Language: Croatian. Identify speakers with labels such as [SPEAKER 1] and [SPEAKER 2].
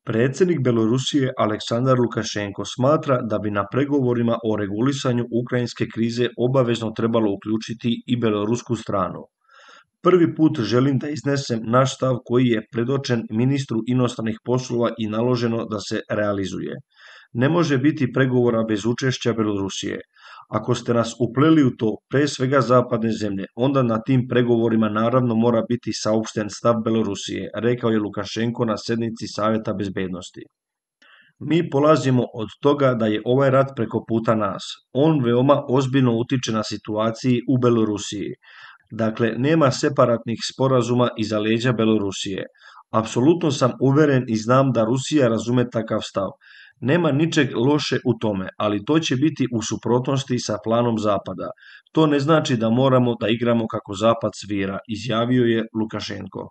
[SPEAKER 1] Predsjednik Belorusije Aleksandar Lukašenko smatra da bi na pregovorima o regulisanju ukrajinske krize obavezno trebalo uključiti i belorusku stranu. Prvi put želim da iznesem naš stav koji je predočen ministru inostranih poslova i naloženo da se realizuje. Ne može biti pregovora bez učešća Belorusije. Ako ste nas upleli u to, pre svega zapadne zemlje, onda na tim pregovorima naravno mora biti saopšten stav Belorusije, rekao je Lukašenko na sednici Saveta bezbednosti. Mi polazimo od toga da je ovaj rat preko puta nas. On veoma ozbiljno utiče na situaciji u Belorusiji. Dakle, nema separatnih sporazuma iza leđa Belorusije. Apsolutno sam uveren i znam da Rusija razume takav stav. Nema ničeg loše u tome, ali to će biti u suprotnosti sa planom Zapada. To ne znači da moramo da igramo kako Zapad svira, izjavio je Lukašenko.